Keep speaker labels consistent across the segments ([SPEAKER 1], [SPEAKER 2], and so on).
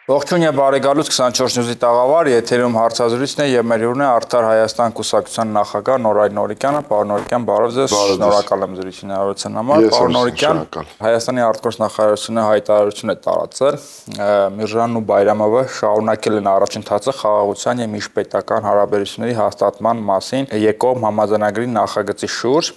[SPEAKER 1] Ողջույն եւ բարեկալուց 24 նյուզի տաղավար, եթերում հարցազրույցն է եւ մեր հյուրն է Արդար Հայաստան կուսակցության նախագահ Նորայր Նորիկյանը, պարոն Նորիկյան, բարև ձեզ, շնորհակալ եմ զրույցի հնարավորության համար, պարոն Նորիկյան, Հայաստանի արտգործնախարարությունը հայտարարություն է տարածել, Միրժանն ու Բայրամովը շարունակել են առաջընթացը խաղաղության եւ միջպետական հարաբերությունների հաստատման մասին երկկողմ համաձայնագրի նախագծի շուրջ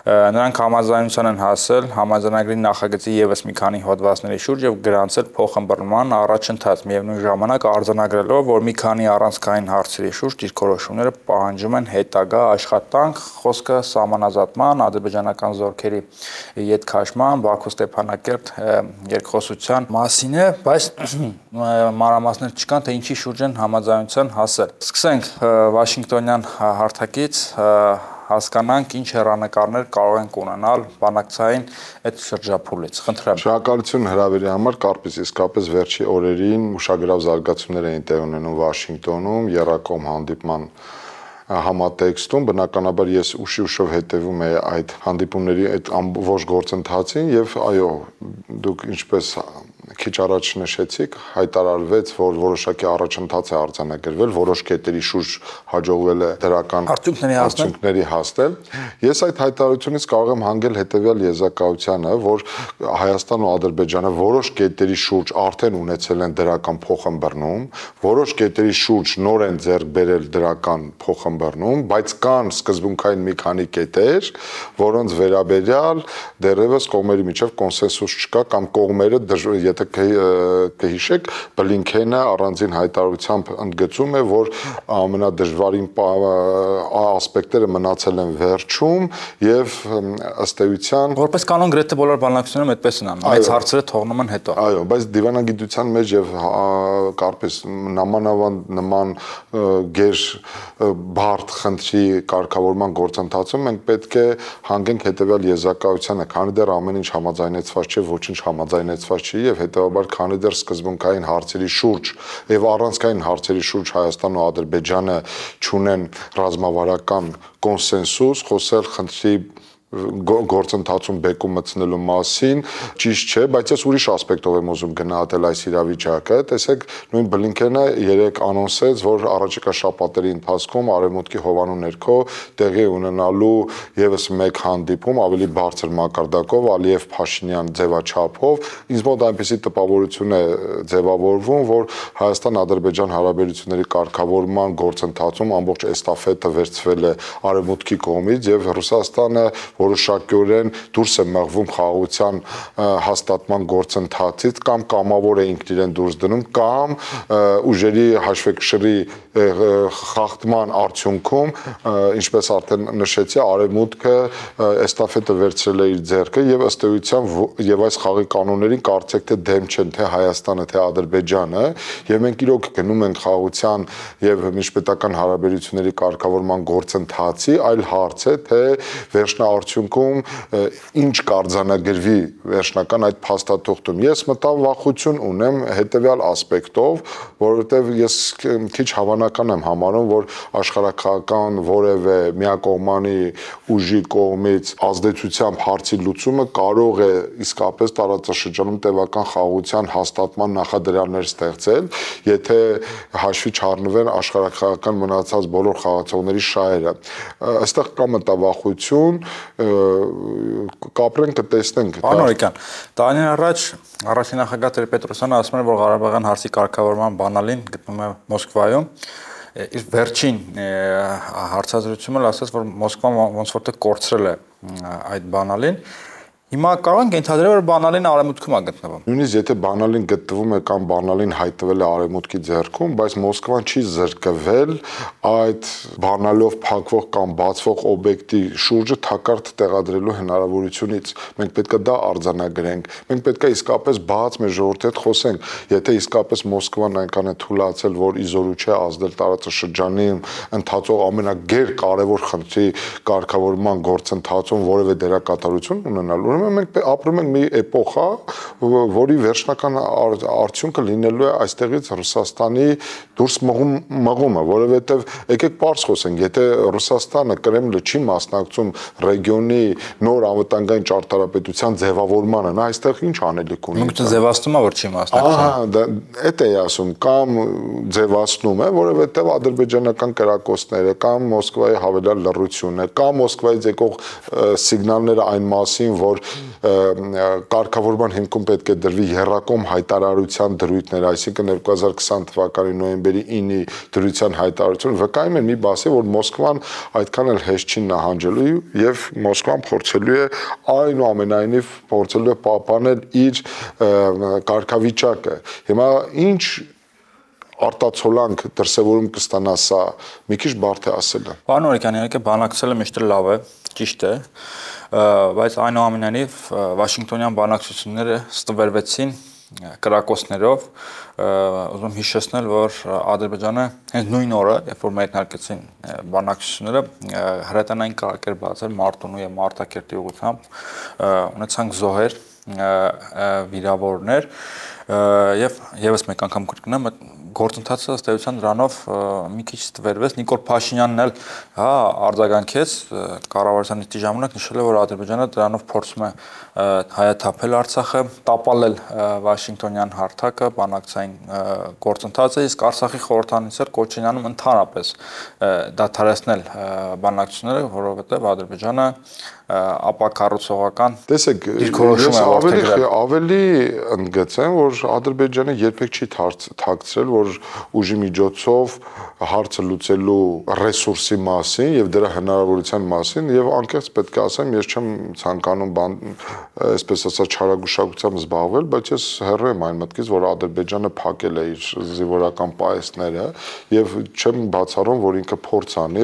[SPEAKER 1] Նրանք համաձայնության են հասել համաձայնագրի նախագծի եւս մի քանի հոդվածների շուրջ եւ գրանցել փոխըմբռնման առաջընթաց, միևնույն ժամանակ արձանագրելով, որ մի քանի առանցքային հարցերի շուրջ դիրքորոշումները պահանջում են հետագա աշխատանք, խոսքը սահմանազատման, ադրբեջանական զորքերի ետ քաշման, Բաքու-Ստեփանակերտ երկխոսության մասին է, բայց մանրամասներ չկան, թե ինչի շուրջ են համաձայնության հասել։ Սկսենք Վաշինգտոնյան հարթակից հասկանանք ինչ հեռանկարներ կարող ենք ունենալ բանակցային այդ շրջափուլից։ Խնդրեմ։
[SPEAKER 2] Շնորհակալություն հրավերի համար, Կարպիս, իսկապես վերջի օրերին ուշագրավ զարգացումներ էին տեղի ունենում Վաշինգտոնում, եռակողմ հանդիպման համատեքստում, բնականաբար ես ուշով հետևում եմ այդ հանդիպումների այդ ամբողջ գործընթացին եւ այո, դուք ինչպես քիչ առաջ նշեցիք, հայտարարվեց, որ որոշակի առաջընթաց է արձանագրվել, որոշ կետերի շուրջ հաջողվել է դրական արդյունքների հասնել։ Ես այդ հայտարարությունից կարող եմ հանգել հետեւյալ եզրակացությանը, որ Հայաստանն ու Ադրբեջանը որոշ կետերի շուրջ արդեն ունեցել են դրական փոխըմբռնում, որոշ կետերի շուրջ նոր են ձեռք բերել դրական փոխըմբռնում, բայց կան սկզբունքային մի քանի կետեր, որոնց վերաբերյալ դեռևս կողմերի միջև կոնսենսուս չկա կամ կողմերը եթե կհիշեք, Բլինքենը առանձին հայտարարությամբ ընդգծում է, որ ամենադժվարին ասպեկտները մնացել են վերջում եւ ըստ էության
[SPEAKER 1] որպես կանոն գրեթե բոլոր բանակցություններում այդպես են անում, այս հարցերը թողնում են հետո։
[SPEAKER 2] Այո, բայց դիվանագիտության մեջ եւ Կարպես նման գեր բարդ խնդրի կարգավորման գործընթացում մենք պետք է հանգենք հետեւյալ եզրակացությանը, քանի դեռ ամեն ինչ համաձայնեցված չէ, ոչինչ համաձայնեցված չի եւ հետեւաբար քանի դեռ սկզբունքային հարցերի շուրջ եւ առանցքային հարցերի շուրջ Հայաստանն ու Ադրբեջանը չունեն ռազմավարական կոնսենսուս, խոսել խնդրի գործընթացում բեկում մտցնելու մասին ճիշտ չէ, բայց ես ուրիշ ասպեկտով եմ ուզում գնահատել այս իրավիճակը։ Տեսեք, նույն Բլինքենը երեք անոնսեց, որ առաջիկա շաբաթների ընթացքում Արևմուտքի հովանու ներքո տեղի ունենալու եւս մեկ հանդիպում ավելի բարձր մակարդակով Ալիև-Փաշինյան ձևաչափով, ինձ մոտ այնպիսի տպավորություն է ձևավորվում, որ Հայաստան-Ադրբեջան հարաբերությունների կարգավորման գործընթացում ամբողջ էստաֆետը վերցվել է Արևմուտքի կողմից եւ Ռուսաստանը որոշակիորեն դուրս է մղվում խաղաղության հաստատման գործընթացից կամ կամավոր է ինքն իրեն դուրս դնում կամ ուժերի հաշվեկշռի խախտման արդյունքում, ինչպես արդեն նշեցի, Արևմուտքը էստաֆետը վերցրել է իր ձեռքը եւ ըստ էության եւ այս խաղի կանոններին կարծեք թե դեմ չեն թե Հայաստանը թե Ադրբեջանը եւ մենք իրոք գնում ենք խաղաղության եւ միջպետական հարաբերությունների կարգավորման գործընթացի, այլ հարց է թե վերջնաարդյունքում ինչ կարձանագրվի վերջնական այդ փաստաթուղթում։ Ես մտավ վախություն ունեմ հետեւյալ ասպեկտով, որովհետեւ ես քիչ հավանական եմ համարում, որ աշխարհակաղակական որևէ միակողմանի ուժի կողմից ազդեցությամբ հարցի լուծումը կարող է իսկապես տարածաշրջանում տևական խաղաղության հաստատման նախադրյալներ ստեղծել, եթե հաշվի չառնվեն աշխարհակաղակական մնացած բոլոր խաղացողների շահերը։ Այստեղ կա մտավախություն, կապրենք, կտեսնենք։
[SPEAKER 1] Պարոն Նորիկյան, տարիներ առաջ առաջին նախագահ Տեր-Պետրոսյանը ասում էր, որ Ղարաբաղյան հարցի կարգավորման բանալին գտնվում է Մոսկվայում։ Իր վերջին հարցազրույցում ասաց, որ Մոսկվան ոնց որ թե կորցրել է այդ բանալին։ Հիմա կարող ենք ենթադրել, որ բանալին Արևմուտքում է գտնվում։
[SPEAKER 2] Նույնիսկ եթե բանալին գտնվում է կամ բանալին հայտնվել է Արևմուտքի ձեռքում, բայց Մոսկվան չի զրկվել այդ բանալով փակվող կամ բացվող օբյեկտի շուրջը թակարդ տեղադրելու հնարավորությունից։ Մենք պետք է դա արձանագրենք։ Մենք պետք է իսկապես բաց մեր ժողովրդի հետ խոսենք, եթե իսկապես Մոսկվան այնքան է թույլատրել, որ իզորու չէ ազդել տարածաշրջանում ընթացող ամենագեր կարևոր խնդրի կարգավորման գործընթացում որևէ դերակատարություն ունենալ։ Մենք ապրում ենք մի էպոխա, որի վերջնական արդյունքը լինելու է այստեղից Ռուսաստանի դուրս մղումը, որովհետև եկեք պարզ խոսենք, եթե Ռուսաստանը, Կրեմլը չի մասնակցում ռեգիոնի նոր անվտանգային ճարտարապետության ձևավորմանը, նա այստեղ ինչ անելիք ունի։
[SPEAKER 1] Ինքը ձևացնում է, որ չի մասնակցում։
[SPEAKER 2] Դա է ասում, կամ ձևացնում է, որովհետև ադրբեջանական կրակոցները կամ Մոսկվայի հավելյալ լռությունը, կամ Մոսկվայից եկող սիգնալները այն մասին, որ կարգավորման հիմքում պետք է դրվի եռակողմ հայտարարության դրույթներ, այսինքն 2020 թվականի նոյեմբերի 9-ի դրության հայտարարությունը վկայում են մի բասի, որ Մոսկվան այդքան էլ հեշտ չի նահանջելու եւ Մոսկվան փորձելու է այնուամենայնիվ փորձելու է պահպանել իր կարգավիճակը։ Հիմա ինչ արտացոլանք դրսևորում կստանա սա, մի քիչ բարդ է ասելը։
[SPEAKER 1] Պարոն Օրիկյան, իհարկե բանակցելը միշտ լավ է, ճիշտ է, բայց այնուամենայնիվ Վաշինգտոնյան բանակցությունները ստվերվեցին կրակոցներով, ուզում եմ հիշեցնել, որ Ադրբեջանը հենց նույն օրը, երբ որ մեկնարկեցին բանակցությունները, հրետանային կարգեր բացել Մարտունու եւ Մարտակերտի ուղղությամբ, ունեցանք զոհեր, վիրավորներ եւ եւս մեկ անգամ կրկնեմ, գործընթացը ըստ էության դրանով մի քիչ ստվերվեց։ Նիկոլ Փաշինյանն էլ արձագանքեց կառավարության նիստի ժամանակ, նշել է, որ Ադրբեջանը դրանով փորձում է հայաթափել Արցախը, տապալել Վաշինգտոնյան հարթակը, բանակցային գործընթացը, իսկ Արցախի խորհրդանիցը կոչ են անում ընդհանրապես դադարեցնել բանակցությունները, որովհետև Ադրբեջանը ապակառուցողական
[SPEAKER 2] դիրքորոշում է որդեգրել։ Ավելի ընդգծեմ, որ Ադրբեջանը երբեք չի թաքցրել, որ ուժի միջոցով հարցը լուծելու ռեսուրսի մասին եւ դրա հնարավորության մասին եւ անկեղծ պետք է ասեմ, ես չեմ ցանկանում այսպես ասած չարագուշակությամբ զբաղվել, բայց ես հեռու եմ այն մտքից, որ Ադրբեջանը փակել է իր զինվորական պահեստները եւ չեմ բացառում, որ ինքը փորձ անի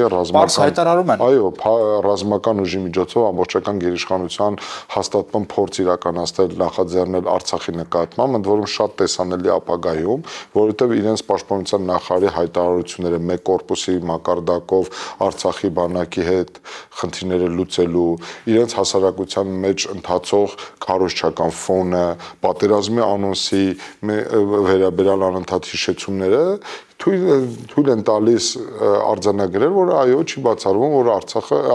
[SPEAKER 2] ռազմական ուժի միջոցով ամբողջական գերիշխանության հաստատման փորձ իրականացնել, նախաձեռնել Արցախի նկատմամբ, ընդ որում շատ տեսանելի ապագայում, որովհետև իրենց պաշտպանության նախարարի հայտարարությունները մեկ կորպուսի մակարդակով Արցախի բանակի հետ խնդիրները լուծելու, իրենց հասարակության մեջ ընթացող քարոզչական ֆոնը, պատերազմի անոնսի վերաբերյալ անընդհատ հիշեցումները թույլ են տալիս արձանագրել, որ այո, չի բացառվում, որ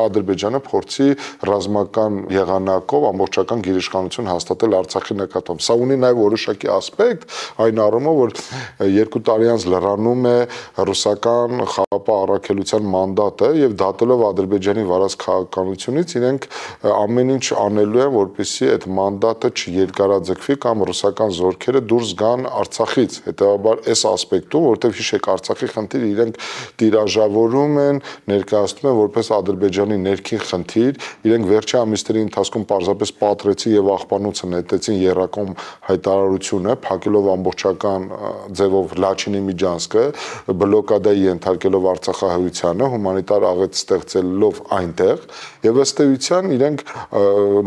[SPEAKER 2] Ադրբեջանը փորձի ռազմական եղանակով ամբողջական գերիշխանություն հաստատել Արցախի նկատմամբ։ Սա ունի նաև որոշակի ասպեկտ, այն առումով, որ 2 տարի անց լրանում է ռուսական խաղապահ առաքելության մանդատը եւ դատելով Ադրբեջանի վարած քաղաքականությունից, իրենք ամեն ինչ անելու են, որպեսզի այդ մանդատը չերկարաձգվի կամ ռուսական զորքերը դուրս գան Արցախից։ Հետեւաբար այս ասպեկտում, որտեղ հիշեք Արցախի խնդիրը իրենք տիրաժավորում են, ներկայացնում են որպես Ադրբեջանի ներքին խնդիր, իրենք վերջի ամիսների ընթացքում պարզապես պատրեցին եւ աղբանոցը նետեցին եռակողմ հայտարարությունը, փակելով ամբողջական ձևով Լաչինի միջանցքը, բլոկադայի ենթարկելով Արցախահայությանը, հումանիտար աղետ ստեղծելով այնտեղ, եւ ըստ էության իրենք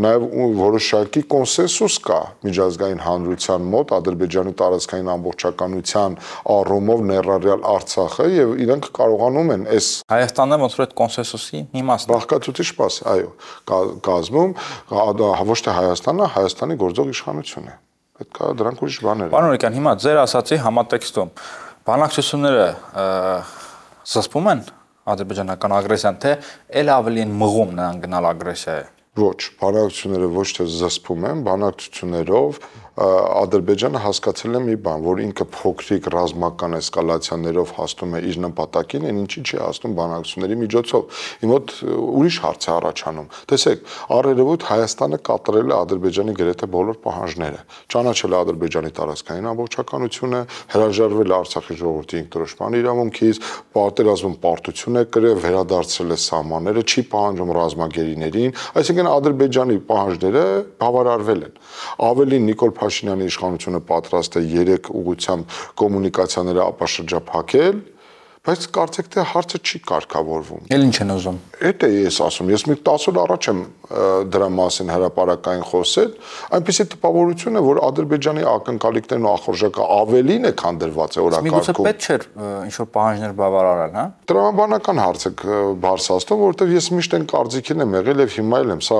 [SPEAKER 2] նաեւ որոշակի կոնսենսուս կա միջազգային հանրության մոտ Ադրբեջանի տարածքային ամբողջականության առումով ներառյալ Արցախը եւ իրենք կարողանում են այս
[SPEAKER 1] Հայաստանը ոնց որ այդ կոնսենսուսի մի մասն է։
[SPEAKER 2] Բաղկացուցիչ մաս, այո, կազմում ոչ թե Հայաստանը, Հայաստանի գործող իշխանությունը։ Պետք է դրանք ուրիշ բաներ են։
[SPEAKER 1] Պարոն Օրիկյան, հիմա ձեր ասացի համատեքստում բանակցությունները զսպում են ադրբեջանական ագրեսիան, թե ել ավելի են մղում նրան գնալ ագրեսիայի։
[SPEAKER 2] Ոչ, բանակցությունները ոչ թե զսպում են, բանակցություններով Ադրբեջանը հասկացել է մի բան, որ ինքը փոքրիկ ռազմական էսկալացիաներով հասնում է իր նպատակին, այն ինչի չի հասնում բանակցությունների միջոցով։ Իմ մոտ ուրիշ հարց է առաջանում։ Տեսեք, առերևույթ Հայաստանը կատարել է Ադրբեջանի գրեթե բոլոր պահանջները, ճանաչել է Ադրբեջանի տարածքային ամբողջականությունը, հրաժարվել է Արցախի ժողովրդի ինքնորոշման իրավունքից, պատերազմում պարտություն է կրել, վերադարձրել է սահմանները, չի պահանջում ռազմագերիներին, այսինքն Ադրբեջանի պահանջները բավարարվել են։ Ավելին Նիկոլ Փաշինյանի իշխանությունը պատրաստ է 3 ուղղությամբ կոմունիկացիաները ապաշրջափակել, բայց կարծեք թե հարցը չի կարգավորվում։
[SPEAKER 1] Էլ ինչ են ուզում։
[SPEAKER 2] Էդ է ես ասում, ես մի 10 օր առաջ եմ դրա մասին հրապարակային խոսել, այնպեսի տպավորություն է, որ Ադրբեջանի ակնկալիքներն ու ախորժակը ավելին է, քան դրված է օրակարգում։
[SPEAKER 1] Միգուցե պետք չէր ինչ որ պահանջներ բավարարել, հա։
[SPEAKER 2] Տրամաբանական հարց է բարձրացնում, որովհետև ես միշտ այն կարծիքին եմ եղել եւ հիմա էլ եմ, սա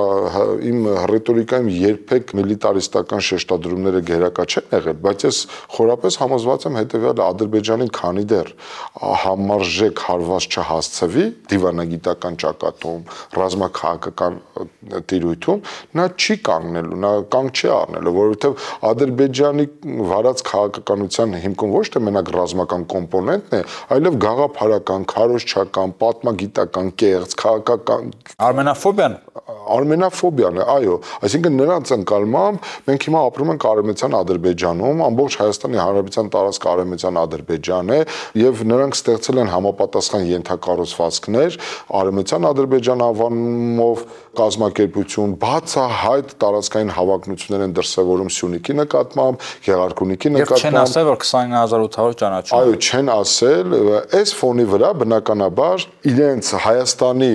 [SPEAKER 2] իմ ռետորիկայում երբեք միլիտարիստական շեշտադրումները գերակա չեն եղել, բայց ես խորապես համոզված եմ հետեւյալը, Ադրբեջանին քանի դեռ համարժեք հարված չհասցվի դիվանագիտական ճակատում, ռազմաքաղաքական տիրույթում, նա չի կանգնելու, նա կանգ չի առնելու, որովհետև Ադրբեջանի վարած քաղաքականության հիմքում ոչ թե մենակ ռազմական կոմպոնենտն է, այլև գաղափարական, քարոզչական, պատմագիտական, կեղծ, քաղաքական Արմենաֆոբիան է, այո, այսինքն նրանց ընկալմամբ մենք հիմա ապրում ենք Արևմտյան Ադրբեջանում, ամբողջ Հայաստանի Հանրապետության տարածքը Արևմտյան Ադրբեջան է եւ նրանք ստեղծել են համապատասխան ենթակառուցվածքներ Արևմտյան Ադրբեջան անվանումով կազմակերպություն, բացահայտ տարածքային հավակնություններ են դրսևորում Սյունիքի նկատմամբ, Գեղարքունիքի նկատմամբ։
[SPEAKER 1] Եվ չեն ասել, որ 29800 ճանաչում։
[SPEAKER 2] Այո, չեն ասել, այս ֆոնի վրա բնականաբար իրենց Հայաստանի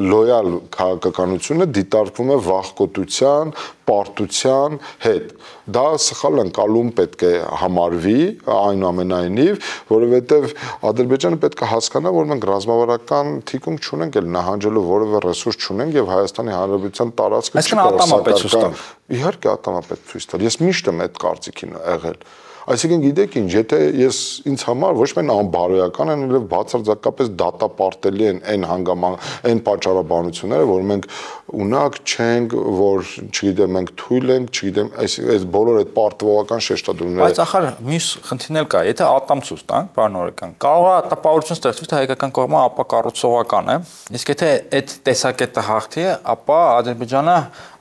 [SPEAKER 2] լոյալ քաղաքականությունը դիտարկվում է վախկոտության, պարտության հետ։ Դա սխալ ընկալում պետք է համարվի այնուամենայնիվ, որովհետև Ադրբեջանը պետք է հասկանա, որ մենք ռազմավարական թիկունք չունենք, էլ նահանջելու որևէ ռեսուրս չունենք եւ Հայաստանի Հանրապետության տարածքը չի
[SPEAKER 1] կարող։
[SPEAKER 2] Իհարկե ատամապետ ցույց տալ։ Ես միշտ եմ այդ կարծիքին եղել։ Այսինքն գիտեք ինչ, եթե ես ինձ համար ոչ միայն անբարոյական են, այլև բացարձակապես դատապարտելի են այն պատճառաբանությունները, որ մենք ունակ չենք, որ չգիտեմ, մենք թույլ ենք, չգիտեմ, այս բոլոր այդ պարտվողական շեշտադրումները։
[SPEAKER 1] Բայց ախր մյուս խնդիրն էլ կա, եթե ատամցուց տանք, պարոն Օրեկան, կարող է տպավորություն ստեղծվի, թե հայկական կողմը ապակառուցողական է, իսկ եթե այդ տեսակետը հաղթի, ապա Ադրբեջանը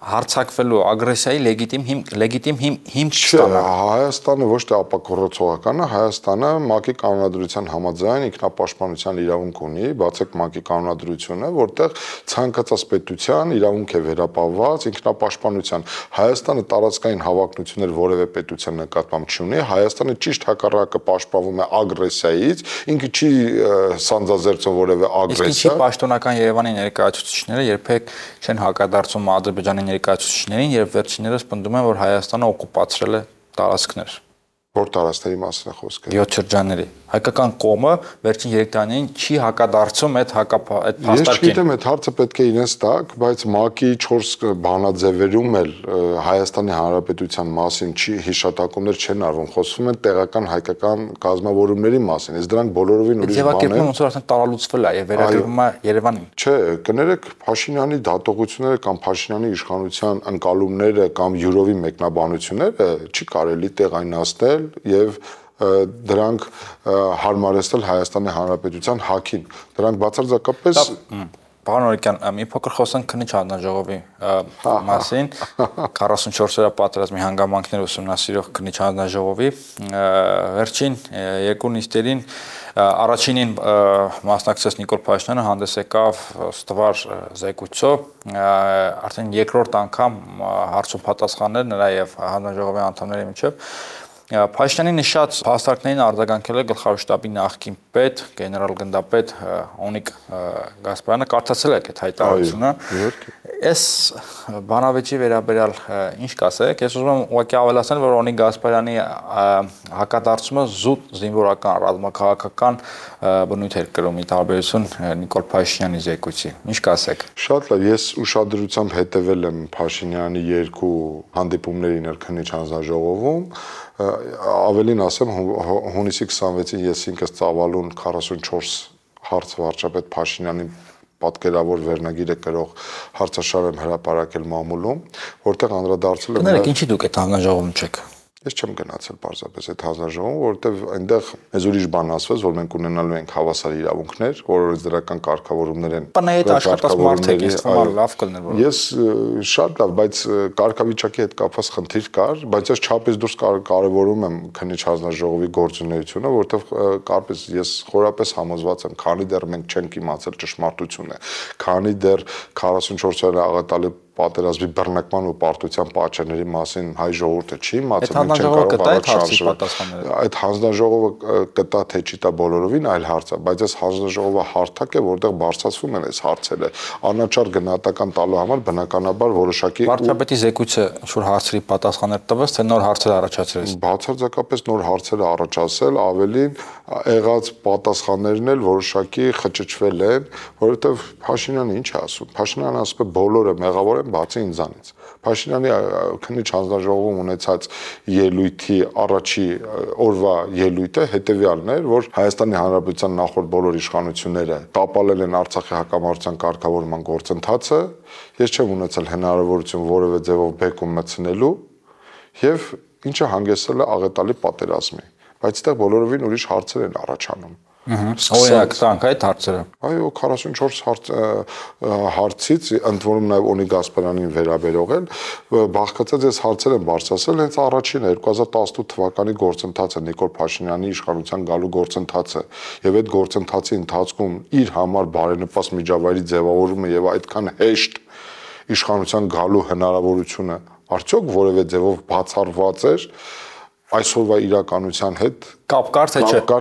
[SPEAKER 1] հարցակվելու ագրեսիայի լեգիտիմ հիմք չստանա։
[SPEAKER 2] Հայաստանը ոչ թե ապակառուցողական է, Հայաստանը ՄԱԿ-ի կանոնադրության համաձայն ինքնապաշտպանության իրավունք ունի, բացեք ՄԱԿ-ի կանոնադրությունը, որտեղ ցանկացած պետության իրավունք է վերապահված ինքնապաշտպանության։ Հայաստանը տարածքային հավակնություններ որևէ պետության նկատմամբ չունի, Հայաստանը ճիշտ հակառակը պաշտպանվում է ագրեսիայից, ինքը չի սանձազերծում որևէ ագրեսիա։
[SPEAKER 1] Իսկ ինչի պաշտոնական Երևանի ներկայացուցիչները երբեք չեն հակադարձում Ադրբեջանի ներկայացուցիչներին, երբ վերջիններս պնդում են, որ Հայաստանը օկուպացրել է տարածքներ։
[SPEAKER 2] Որ տարածքների մասին է խոսքը։
[SPEAKER 1] 7 շրջանների։ Հայկական կողմը վերջին 3 տարիներին չի հակադարձում այդ փաստարկին։
[SPEAKER 2] Ես չգիտեմ, այդ հարցը պետք է իրենց տակ, բայց ՄԱԿ-ի 4 բանաձևերում էլ Հայաստանի Հանրապետության մասին հիշատակումներ չեն արվում, խոսվում են տեղական հայկական կազմավորումների մասին, իսկ դրանք բոլորովին ուրիշ բան են։
[SPEAKER 1] Ձևակերպումը ոնց որ արդեն տարալուծվել է եւ վերագրվում է Երևանին։
[SPEAKER 2] Չէ, կներեք Փաշինյանի դատողությունները կամ Փաշինյանի իշխանության ընկալումները կամ յուրովի մեկնաբանությունները չի կարելի տեղայնացնել եւ դրանք հարմարեցնել Հայաստանի Հանրապետության հակին։ Դրանք բացարձակապես
[SPEAKER 1] Պարոն Օրեկյան, մի փոքր խոսանք քննիչ հանձնաժողովի մասին, 44-օրյա պատերազմի հանգամանքները ուսումնասիրող քննիչ հանձնաժողովի վերջին երկու նիստերին առաջինին մասնակցեց Նիկոլ Փաշինյանը, հանդես եկավ ստվար զեկույցով, արդեն երկրորդ անգամ հարցում պատասխաններ նրա եւ հանձնաժողովի անդամների միջև Փաշինյանի նշած փաստարկներին արձագանքել է գլխավոր շտաբի նախկին պետ, գեներալ գնդապետ Օնիկ Գասպարյանը, կարդացել եք այդ հայտարարությունը։ Այս բանավեճի վերաբերյալ ինչ կասեք։ Ես ուզում եմ ուղղակի ավելացնել, որ Օնիկ Գասպարյանի հակադարձումը զուտ զինվորական ռազմաքաղաքական բնույթ էր կրում՝ ի տարբերություն Նիկոլ Փաշինյանի զեկույցի։ Ինչ կասեք։
[SPEAKER 2] Շատ լավ, ես ուշադրությամբ հետևել եմ Փաշինյանի երկու հանդիպումներին քննիչ հանձնաժողովում, ավելին ասեմ, հունիսի 26-ին ես ինքս ծավալուն 44 հարց վարչապետ Փաշինյանին պատկերավոր վերնագիրը կրող հարցաշար եմ հրապարակել մամուլում, որտեղ անդրադարձել եմ։
[SPEAKER 1] Կներեք, ինչի դուք այդ հանձնաժողովում չեք։
[SPEAKER 2] Ես չեմ գնացել պարզապես այդ հանձնաժողովում, որովհետև այնտեղ մեզ ուրիշ բան ասվեց, որ մենք ունենալու ենք հավասար իրավունքներ, որոնց դրական կարգավորումներ են։
[SPEAKER 1] Պնայդ աշխատած մարդիկ, ես թվում լավ կլներ որ։
[SPEAKER 2] Ես շատ լավ, բայց կարգավիճակի հետ կապված խնդիր կար, բայց ես չափից դուրս կարևորում եմ քննիչ հանձնաժողովի գործունեությունը, որովհետև կարպես ես խորապես համոզված եմ, քանի դեռ մենք չենք իմացել ճշմարտությունը, քանի դեռ 44 օրյա աղետալի պատերազմի բռնկման ու պարտության պատճառների մասին հայ ժողովուրդը չի իմացել,
[SPEAKER 1] մենք չենք կարող
[SPEAKER 2] այդ հանձնաժողովը կտա թե չի տա բոլորովին այլ հարց է, բայց այս հանձնաժողովը հարթակ է, որտեղ բարձրացվում են այս հարցերը, անաչառ գնահատական տալու համար բնականաբար որոշակի
[SPEAKER 1] վարչապետի զեկույցը ինչ-որ հարցերի պատասխաններ տվեց, թե նոր հարցեր առաջացրեց։
[SPEAKER 2] Բացարձակապես նոր հարցեր առաջացել, ավելին եղած պատասխաններն էլ որոշակի խճճվել են, որովհետև Փաշինյանը ինչ է ասում։ Փաշինյանը ասում է բոլորը մեղավոր են բացի ինձանից։ Փաշինյանի քննիչ հանձնաժողովում ունեցած ելույթի առաջի օրվա ելույթը հետևյալն էր, որ Հայաստանի Հանրապետության նախորդ բոլոր իշխանությունները տապալել են Արցախի հակամարտության կարգավորման գործընթացը, ես չեմ ունեցել հնարավորություն որևէ ձևով բեկում մտցնելու եւ ինչը հանգեցրել է աղետալի պատերազմի, բայց այդտեղ բոլորովին ուրիշ հարցեր են առաջանում։
[SPEAKER 1] Օրինակ տանք այդ հարցերը։
[SPEAKER 2] Այո, 44 հարցից ընդ որում նաև Օնի Գասպարյանին վերաբերող են բաղկացած այս հարցեր են բարձրացել հենց առաջինը 2018 թվականի գործընթացը Նիկոլ Փաշինյանի իշխանության գալու գործընթացը եւ այդ գործընթացի ընթացքում իր համար բարենպաստ միջավայրի ձևավորումը եւ այդքան հեշտ իշխանության գալու հնարավորությունը արդյոք որևէ ձևով բացառված էր այսօրվա իրականության հետ
[SPEAKER 1] կապ կար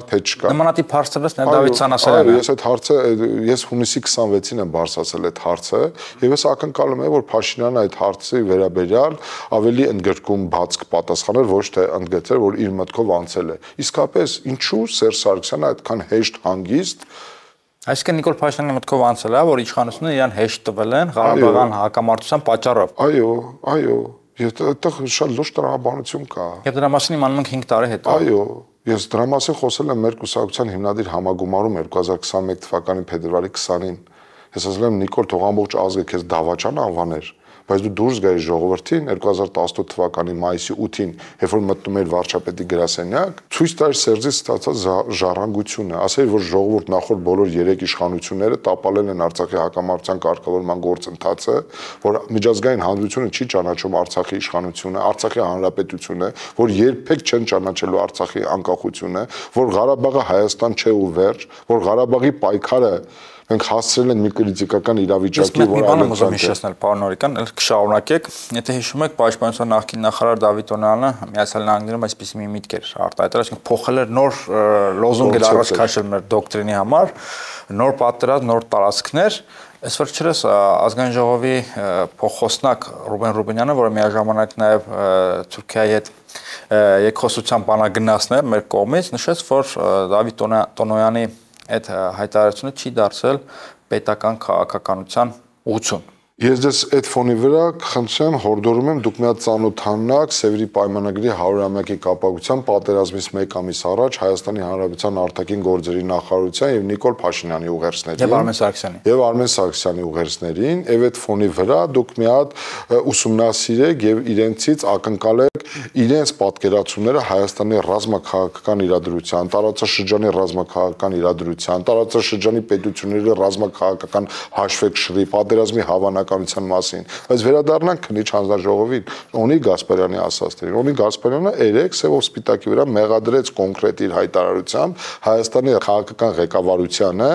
[SPEAKER 1] թե չկա։ Նմանատիպ հարցերից Նե Դավիթ Սանասարյանը։
[SPEAKER 2] Ես այդ հարցը ես հունիսի 26-ին եմ բարձրացել այդ հարցը եւ ես ակնկալում եմ որ Փաշինյանը այդ հարցի վերաբերյալ ավելի ընդգրկում բաց կպատասխաներ, ոչ թե ընդգծեր որ իր մտքով անցել է։ Իսկապես ինչու Սերժ Սարգսյանը այդքան հեշտ հանգիստ
[SPEAKER 1] Այսինքն Նիկոլ Փաշինյանի մտքով անցել է, որ իշխանությունը իրան հեշտ տվել են Ղարաբաղյան հակամարտության պատճառով։
[SPEAKER 2] Այո, այդտեղ շատ լուրջ տրամաբանություն կա։
[SPEAKER 1] Եվ դրա մասին իմանում ենք 5 տարի հետո։
[SPEAKER 2] Այո, ես դրա մասին խոսել եմ մեր կուսակցության հիմնադիր համագումարում 2021 թվականի փետրվարի 20-ին։ Ես ասել եմ Նիկոլ, թող ամբողջ ազգը քեզ դավաճան անվաներ, բայց դու դուրս գայի ժողովրդին 2018 թվականի մայիսի 8-ին, երբ որ մտնում էր վարչապետի գրասենյակ, ցույց տար Սերժի ստացած ժառանգությունը, ասել որ ժողովուրդ նախորդ բոլոր 3 իշխանությունները տապալել են Արցախի հակամարտության կարգավորման գործընթացը, որ միջազգային հանրությունը չի ճանաչում Արցախի իշխանությունը, Արցախի հանրապետությունը, որ երբեք չեն ճանաչելու Արցախի անկախությունը, որ Ղարաբաղը Հայաստան չէ ու վերջ, որ Ղարաբաղի պայքարը մենք հասցրել ենք մի կրիտիկական իրավիճակի,
[SPEAKER 1] որ այլընտրանք ուզում հիշեցնել, պարոն Նորիկյան, կշարունակեք։ Եթե հիշում եք, Պաշտպանության նախկին նախարար Դավիթ Օնարյանը Միացյալ Նահանգներում այսպիսի մի միտք էր արտահայտել, այսինքն փոխել էր նոր լոզունգ էր առաջ քաշել մեր դոկտրինի համար, նոր պատերազմ, նոր տարածքներ։ Այս վերջերս ազգային ժողովի փոխխոսնակ Ռուբեն Ռուբենյանը, որը միաժամանակ նաև Թուրքիայի հետ երկխոսության բանագնացն է մեր կողմից, նշեց, որ Դավիթ Տոնոյանի այդ հայտարարությունը չի դարձել պետական քաղաքականության ուղղություն։
[SPEAKER 2] Ես դες այդ ֆոնի վրա խնդրեմ, հորդորում եմ դուք մի հատ ծանոթանաք Սևերի պայմանագրի 100-ամյակի կապակցությամբ պատերազմից 1 ամիս առաջ Հայաստանի Հանրապետության արտաքին գործերի նախարարության եւ Նիկոլ Փաշինյանի ուղերձներին
[SPEAKER 1] եւ Արմեն Սարգսյանի
[SPEAKER 2] ուղերձներին եւ այդ ֆոնի վրա դուք մի հատ ուսումնասիրեք եւ իրենցից ակնկալեք իրենց պատկերացումները Հայաստանի ռազմաքաղաքական իրադրության, տարածաշրջանի ռազմաքաղաքական իրադրության, տարածաշրջանի պետությունների ռազմաքաղաքական հաշվեկշռի, պատերազմի հավանականության մասին, բայց վերադառնանք քննիչ հանձնաժողովին, Օնի Գասպարյանի ասածներին։ Օնի Գասպարյանը 3 սևով սպիտակի վրա մեղադրեց կոնկրետ իր հայտարարությամբ Հայաստանի քաղաքական ղեկավարությանը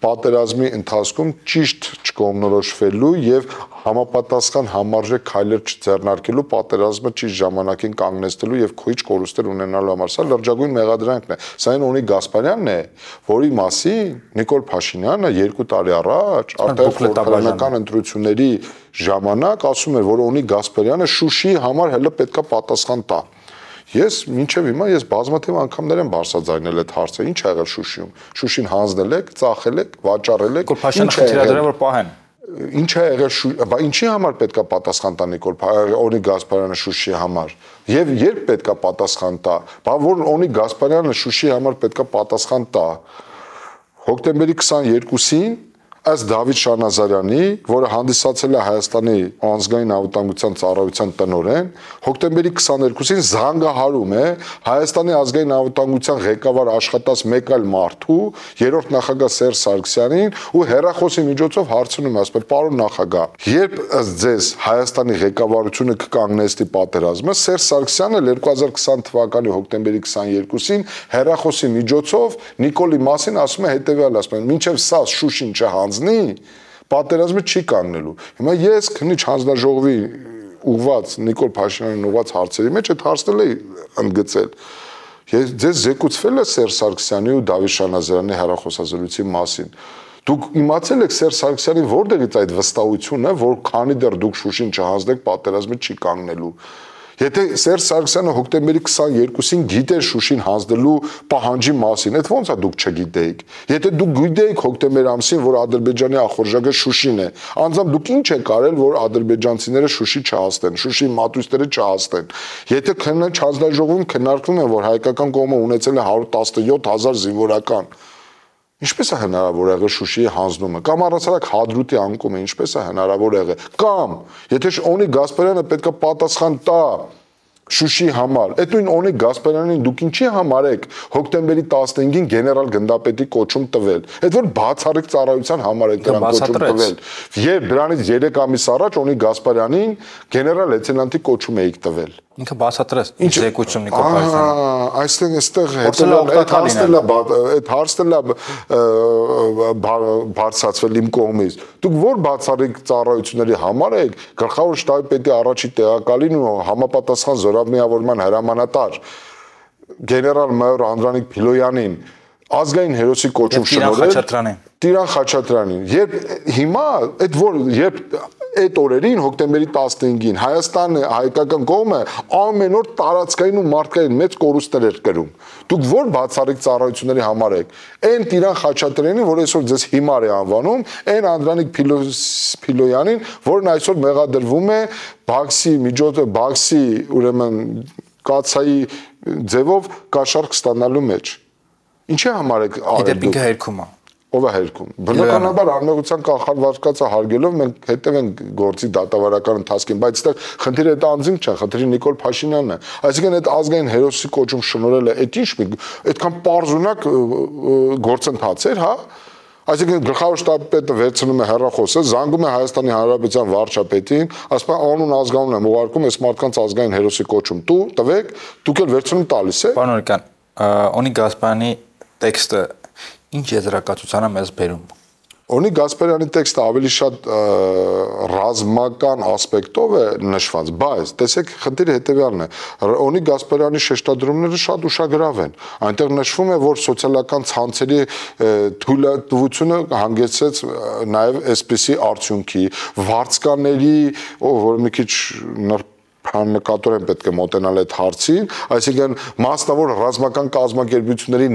[SPEAKER 2] պատերազմի ընթացքում ճիշտ չկողմնորոշվելու եւ համապատասխան համարժեք քայլեր չձեռնարկելու պատերազմը ճիշտ ժամանակին կանգնեցնելու եւ քոյիչ կորուստներ ունենալու համար։ Սա լրջագույն մեղադրանքն է։ Սա այն Օնի Գասպարյանն է, որի մասին Նիկոլ Փաշինյանը 2 տարի առաջ արտահայտական ընտրությունների ժամանակ ասում էր, որ Օնի Գասպարյանը Շուշիի համար հələ պետքա պատասխան տա։ Ես մինչև հիմա բազմաթիվ անգամներ եմ բարձրաձայնել այդ հարցը։ Ինչ ա եղել Շուշիում։ Շուշին հանձնել եք, ծախել եք, վաճառել եք։
[SPEAKER 1] Փաշինյանը խնդրել է որ պահեն։
[SPEAKER 2] Ինչ ա եղել, բա ինչի համար պետքա պատասխան տա Նիկոլ Օնի Գասպարյանը Շուշիի համար։ Եվ երբ պետքա պատասխան տա։ Բա որ Օնի Գասպարյանը Շուշիի համար պետքա պատասխան տա։ Հոկտեմբերի 22-ին Այս Դավիթ Շանազարյանի, որը հանդիսացել է Հայաստանի ազգային անվտանգության ծառայության տնօրեն, հոկտեմբերի 22-ին զանգահարում է Հայաստանի ազգային անվտանգության ղեկավար աշխատած մեկ այլ մարդու, երրորդ նախագահ Սերժ Սարգսյանին ու հեռախոսի միջոցով հարցնում է, ասում է, պարոն նախագահ, երբ ըստ ձեզ Հայաստանի ղեկավարությունը կկանգնեցնի պատերազմը, Սերժ Սարգսյանը 2020 թվականի հոկտեմբերի 22-ին հեռախոսի միջոցով Նիկոլի մասին ասում է հետևյալը, ասում է, մինչև սա Շուշին չհանձնի, պատերազմը չի կանգնելու։ Հիմա ես քննիչ հանձնաժողովի ուղված Նիկոլ Փաշինյանին ուղված հարցերի մեջ այդ հարցն էի ընդգծել։ Ձեզ զեկուցվել է Սերժ Սարգսյանի ու Դավիթ Շանազարյանի հեռախոսազրույցի մասին։ Դուք իմացել եք Սերժ Սարգսյանի որտեղից այդ վստահությունը, որ քանի դեռ դուք Շուշին չհանձնեք, պատերազմը չի կանգնելու։ Եթե Սերժ Սարգսյանը հոկտեմբերի 22-ին գիտեր Շուշին հանձնելու պահանջի մասին, այդ ո՞նց է դուք չգիտեիք։ Եթե դուք գիտեիք հոկտեմբեր ամսին, որ Ադրբեջանի ախորժակը Շուշին է, անձամբ դուք ինչ եք արել, որ ադրբեջանցիները Շուշի չհասնեն, Շուշի մատույցները չհասնեն։ Եթե քննիչ հանձնաժողովում քննարկվում է, որ հայկական կողմը ունեցել է 117,000 զինվորական, ինչպես է հնարավոր եղել Շուշիի հանձնումը, կամ առասարակ Հադրութի անկումը ինչպես է հնարավոր եղել, կամ եթե Օնի Գասպարյանը պետք է պատասխան տա Շուշի համար, այդ նույն Օնի Գասպարյանին դուք ինչի համար եք հոկտեմբերի 15-ին գեներալ գնդապետի կոչում տվել, այդ որ բացառիկ ծառայության համար եք դրան կոչում տվել, երբ դրանից 3 ամիս առաջ Օնի Գասպարյանին գեներալ լեյտենանտի կոչում եք տվել։
[SPEAKER 1] Ինքը բացատրեց ինչ զեկույցում Նիկոլ Փաշինյանը։
[SPEAKER 2] Այստեղ այդ հարցն է բարձրացվել իմ կողմից։ Դուք որ բացառիկ ծառայությունների համար եք գլխավոր շտաբի պետի առաջի տեղակալին ու համապատասխան զորամիավորման հրամանատար գեներալ-մայոր Անդրանիկ Փիլոյանին ազգային հերոսի կոչում շնորհել Տիրան Խաչատրյանին։ Երբ հիմա երբ այդ օրերին հոկտեմբերի 15-ին Հայաստանը հայկական կողմը ամեն օր տարածքային ու մարդկային մեծ կորուստներ էր կրում։ Դուք որ բացառիկ ծառայությունների համար եք։ Այն Տիրան Խաչատրյանին, որ այսօր ձեզ հիմար է անվանում, այն Անդրանիկ Փիլոյանին, որն այսօր մեղադրվում է Բաքսի ուրեմն կացայի ձևով կաշառք ստանալու մեջ։ Ինչի համար եք արել
[SPEAKER 1] դուք։ Ինքը հերքում է։
[SPEAKER 2] Ով է հերքում։ Բնականաբար անմեղության կանխարգելվածը հարգելով մենք հետևենք գործի դատավարական ընթացքին, բայց այստեղ խնդիրը այդ անձինք չէ, խնդիրը Նիկոլ Փաշինյանն է։ Այսինքն այդ ազգային հերոսի կոչում շնորհելը այդ ինչ այդքան պարզունակ գործընթաց էր, հա։ Այսինքն գլխավոր շտաբի պետը վերցնում է հեռախոսը, զանգում է Հայաստանի Հանրապետության վարչապետին, ասում է անուն ազգանուն եմ ուղարկում այս մարդկանց ազգային հերոսի կոչում տվեք, դուք էլ վերցնում տալիս եք։
[SPEAKER 1] Պարոն Օրիկյան, Օնի Գասպարյանի տեքստը ինչ եզրակացության է մեզ բերում։
[SPEAKER 2] Օնի Գասպարյանի տեքստը ավելի շատ ռազմական ասպեկտով է նշված, բայց տեսեք խնդիրը հետևյալն է։ Օնի Գասպարյանի շեշտադրումները շատ ուշագրավ են։ Այնտեղ նշվում է, որ սոցիալական ցանցերի թույլատվությունը հանգեցրեց նաև այսպիսի արդյունքի, վարձկաների, որ մի քիչ նկատորեն պետք է մոտենալ այդ հարցին, այսինքն մասնավոր ռազմական կազմակերպությունների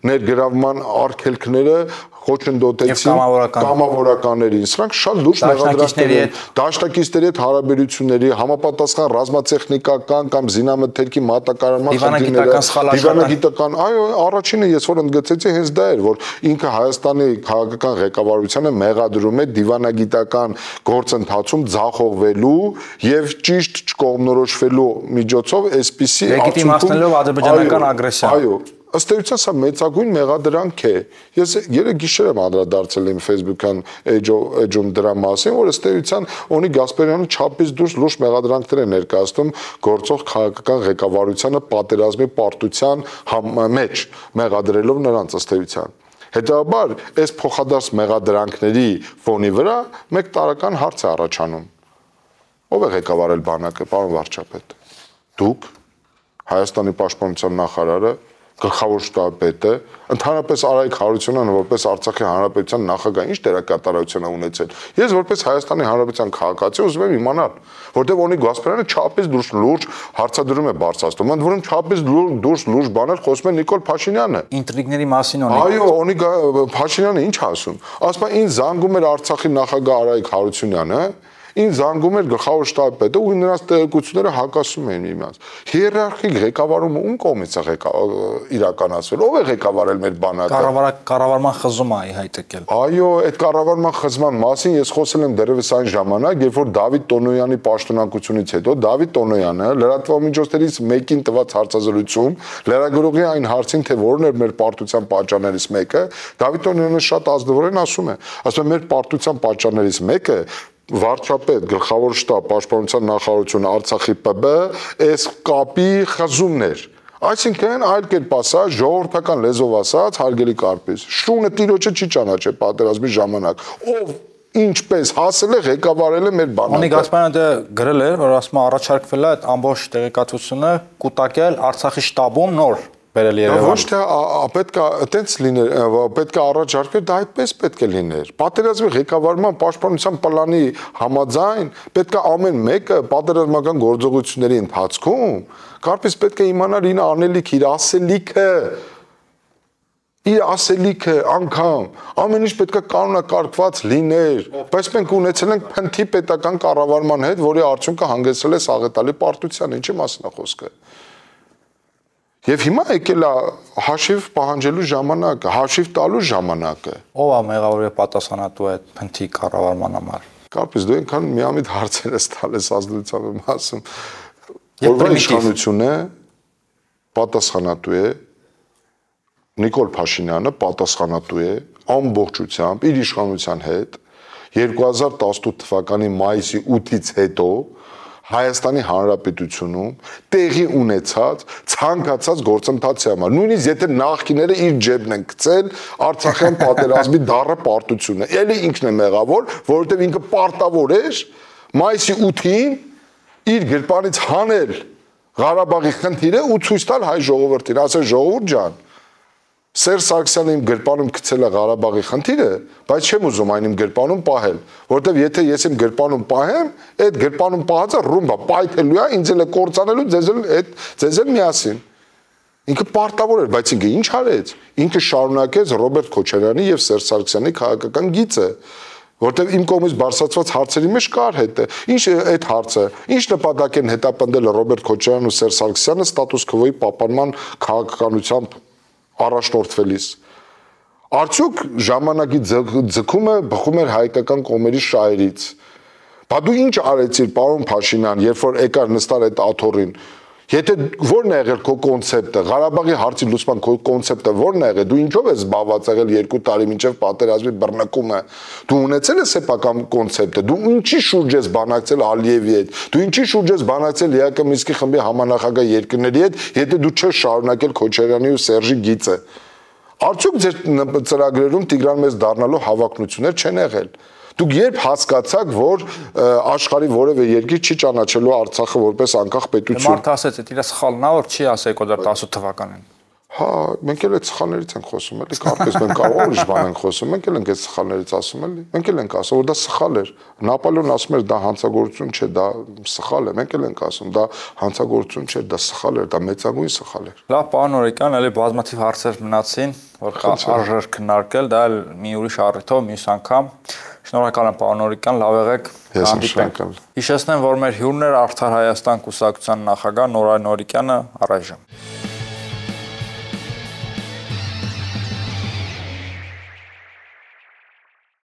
[SPEAKER 2] ներգրավման արգելքները խոչընդոտեցին կամավորականներին, սրանք շատ լուրջ մեղադրանքներ են դաշնակիցների հետ հարաբերությունների, համապատասխան ռազմատեխնիկական կամ զինամթերքի մատակարարման խնդիրները, դիվանագիտական, այո, առաջինը ես որ ընդգծեցի հենց դա էր, որ ինքը Հայաստանի քաղաքական ղեկավարությանը մեղադրում է դիվանագիտական գործընթացում ձախողվելու եւ ճիշտ չկողմնորոշվելու միջոցով այսպիսի
[SPEAKER 1] լեգիտիմացնելով ադրբեջանական ագրեսիան։
[SPEAKER 2] Այո, ըստ էության սա մեծագույն մեղադրանք է։ Ես երեք գիշեր եմ անդրադարձել իմ Facebook-յան էջում դրա մասին, որ ըստ էության Օնի Գասպարյանը չափից դուրս լուրջ մեղադրանքներ է ներկայացնում գործող քաղաքական ղեկավարությանը պատերազմի պարտության մեջ, մեղադրելով նրանց ըստ էության։ Հետևաբար, այս փոխադարձ մեղադրանքների ֆոնի վրա մեկ տարական հարց է առաջանում։ Ով է ղեկավարել բանակը, պարոն վարչապետ։ Դուք, Հայաստանի պաշտպանության նախարարը, գլխավոր շտաբի պետը, ընդհանրապես Արայիկ Հարությունյանը որպես Արցախի Հանրապետության նախագահ ինչ դերակատարություն է ունեցել։ Ես որպես Հայաստանի Հանրապետության քաղաքացի ուզում եմ իմանալ, որտեղ Օնի Գասպարյանը չափից դուրս լուրջ հարցադրում է բարձրացնում, ընդ որում չափից դուրս լուրջ բաներ խոսում է Նիկոլ Փաշինյանը։
[SPEAKER 1] Ինտրիգների մասին Օնի։
[SPEAKER 2] Այո, Օնի Փաշինյանը ինչ ասում։ Ասում է ինձ զանգում էր Արցախի նախագահ Արայիկ Հարությունյանը, ինձ զանգում էր գլխավոր շտաբի պետը ու նրանց տեղեկությունները հակասում էին միմյանց։ Հիերարխիկ ղեկավարումը ում կողմից է իրականացվել։ Ով է ղեկավարել մեր բանակը։
[SPEAKER 1] Կառավարման խզում է հայտ եկել։
[SPEAKER 2] Այո, այդ կառավարման խզման մասին ես խոսել եմ դեռևս այն ժամանակ, երբ որ Դավիթ Տոնոյանի պաշտոնակությունից հետո Դավիթ Տոնոյանը լրատվամիջոցներից մեկին տված հարցազրույցում լրագրողի այն հարցին, թե որն էր մեր պարտության պատճառներից մեկը, Դավիթ Տոնոյանը շատ ազնվորեն ասում է մեր պարտության պատճառներից մեկը վարչապետ, գլխավոր շտաբ, պաշտպանության նախարարություն, Արցախի ՊԲ, այս կապի խզումն էր։ Այսինքն այլ կերպ ասած, ժողովրդական լեզվով ասած, հարգելի Կարպես, շունը տիրոջը չի ճանաչել պատերազմի ժամանակ։ Ով ինչպես հասել է ղեկավարել է մեր բանակը։
[SPEAKER 1] Անիկ Ասպանյանը դե գրել էր, որ ասում առաջարկվել է այդ ամբողջ տեղեկատվությունը կուտակել Արցախի շտաբում նոր բերել Երևան։
[SPEAKER 2] Ոչ թե պետք է այտենց լիներ, պետք է առաջարկվեր, դա այդպես պետք է լիներ։ Պատերազմի ղեկավարման պաշտպանության պլանի համաձայն պետք է ամեն մեկը պատերազմական գործողությունների ընթացքում Կարպես պետք է իմանալ իր անելիք, իր ասելիքը անգամ ամեն ինչ պետք է կանոնակարգված լիներ, բայց մենք ունեցել ենք փնթի պետական կառավարման հետ, որի արդյունքը հանգեցրել է սաղետալի պարտության, ինչի մասն է խոսքը։ Եվ հիմա եկել է հաշիվ պահանջելու ժամանակը, հաշիվ տալու ժամանակը։
[SPEAKER 1] Ո՞վ է մեղավոր եւ պատասխանատու այդ փնթի կառավարման համար։
[SPEAKER 2] Կարպես դու այնքան միամիտ հարցեր ես տալիս ազդեցությամբ եմ ասում, որ իշխանությունը պատասխանատու է, Նիկոլ Փաշինյանը պատասխանատու է ամբողջությամբ իր իշխանության հետ 2018 թվականի մայիսի 8-ից հետո Հայաստանի Հանրապետությունում տեղի ունեցած ցանկացած գործընթացի համար, նույնիսկ եթե նախկիները իր ջեբն են գցել Արցախյան պատերազմի դառը պարտությունը, ելի ինքն է մեղավոր, որովհետև ինքը պարտավոր էր մայիսի 8-ին իր գրպանից հանել Ղարաբաղի խնդիրը ու ցույց տալ հայ ժողովրդին, ասել ժողովուրդ ջան, Սերժ Սարգսյանը իմ գրպանում գցել է Ղարաբաղի խնդիրը, բայց չեմ ուզում այն իմ գրպանում պահել, որովհետև եթե ես իմ գրպանում պահեմ, այդ գրպանում պահածը ռումբա պայթելու է, ինձ էլ է կործանելու, ձեզ էլ միասին։ Ինքը պարտավոր էր, բայց ինքը ինչ արեց։ Ինքը շարունակեց Ռոբերտ Քոչարյանի եւ Սերժ Սարգսյանի քաղաքական գիծը, որտեղ իմ կողմից բարձրացված հարցերի մեջ կար հետը։ Ինչ այդ հարցը, ինչ նպատակ են հետապնդել Ռոբերտ Քոչարյանն ու Սերժ Սարգսյանը ստատուս քվոյի պահպանման քաղաքականությամբ առաջնորդվելիս։ Արդյոք ժամանակի ձգումը բխում էր հայկական կողմերի շահերից։ Բա դու ինչ արեցիր, պարոն Փաշինյան, երբ որ եկար նստար այդ աթոռին։ Եթե ո՞րն է եղել քո կոնցեպտը, Ղարաբաղի հարցի լուծման քո կոնցեպտը ո՞րն է եղել, դու ինչով ես զբաղված եղել 2 տարի մինչև պատերազմի բռնկումը, դու ունեցել ես սեփական կոնցեպտը, դու ինչի շուրջ ես բանակցել Ալիևի հետ, դու ինչի շուրջ ես բանակցել ԵԱԿ Մինսկի խմբի համանախագահ երկրների հետ, եթե դու չես շարունակել Քոչարյանի ու Սերժի գիծը։ Արդյոք ձեր ծրագրերում Տիգրան մեծ դառնալու հավակնություններ չեն եղել։ Դուք երբ հասկացաք, որ աշխարհի որևէ երկիր չի ճանաչելու Արցախը որպես անկախ պետություն։
[SPEAKER 1] Մարդը ասեց, դա իր սխալն է, որ չի ասել 2018 թվականին։
[SPEAKER 2] Հա, մենք էլ այդ սխալներից ենք խոսում, էլի, կարծես մենք ուրիշ բան ենք խոսում, մենք էլ ենք այդ սխալներից ասում, էլի։ Մենք էլ ենք ասում, որ դա սխալ էր։ Նապոլեոնը ասում էր, դա հանցագործություն չէ, դա սխալ է։ Մենք էլ ենք ասում, դա հանցագործություն չէ, դա սխալ էր, դա մեծագույն սխալ էր։
[SPEAKER 1] Լավ, պարոն Օրիկյան, էլի բազմաթիվ հարցեր մնացին, որ արժեր քննարկել, դա էլ մի ուրիշ առիթով, մյուս անգամ։ Շնորհակալ եմ, պարոն Օրիկյան, լավ եղեք, հանդիպենք։ Հիշեցնեմ, որ մեր հյուրն էր Արդար Հայաստան կուսակցության նախագահ Նորայր Նորիկյանը, առայժմ։